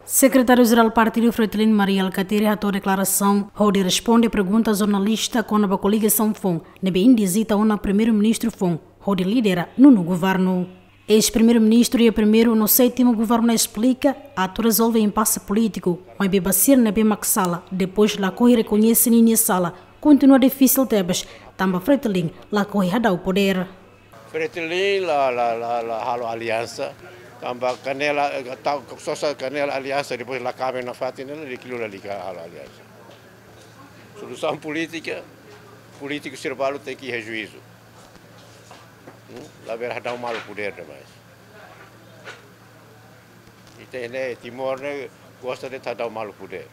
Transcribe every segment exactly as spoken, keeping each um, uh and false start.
Sekretáriu-Jerál Partidu Fretilin, Mari Alkatiri, hato'o deklarasaun hodi responde pergunta jornalista kona-ba koligasaun foun ne'ebé indizita ona Primeiru-Ministru foun hodi lidera nono governu. Eis-Primeiru-Ministru iha primeiru no sétimu governu esplika atu rezolve impase polítiku, maibé ba sira ne'ebé mak sala, depois lakohi rekoñese ninia sala, kontinua difisil tebes, tanba Fretilin lakohi hadau podér. Fretilin la, la, la, la halo aliansa, tanba kanela, eh, tau, sosa kanela aliansa, depois la kaben nafatin, ne'e la di'ak liu, la di'ak halo aliansa. Solusaun polítika, polítiku sira balu tenke iha juízu. Hmm? Labele hadau malu podér demais. Ita ne'e, Timor ne'e gosta de hadau malu podér.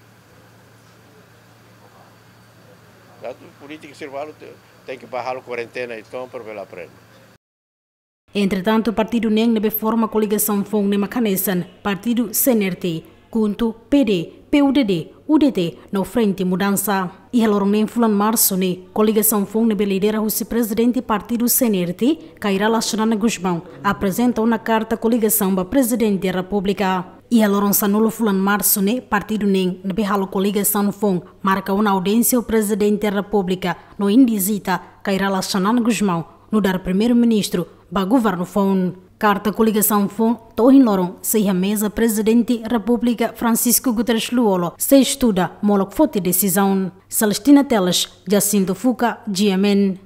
Tantu polítiku sira balu te-, tenke bá halo kuarentena entaun para bele aprende. Entretantu, partidu neen ne'ebé forma koligasaun foun ne'e mak hanesan partidu C N R T, KHUNTO, P D, P U D D, U D T, no Frente Mudansa. Iha loron neen fulan Marsu ne'e, koligasaun foun ne'ebé lidera husi prezidente partidu C N R T, Kay Rala Xanana Gusmão, aprezenta ona karta koligasaun ba Prezidente Repúblika. Iha loron sanulu fulan Marsu ne'e, partidu neen ne'ebé halo koligasaun foun marka ona audiénsia ho Prezidente Repúblika no indizita Kay Rala Xanana Gusmão nu'udar Primeiru-Ministru ba governu foun. Karta koligasaun foun to'o ohin loron sei iha meza Prezidente Repúblika Francisco Guterres Lú-Olo, sei estuda molok foti desizaun. Celestina Teles, Jacinto Fuca, G M N.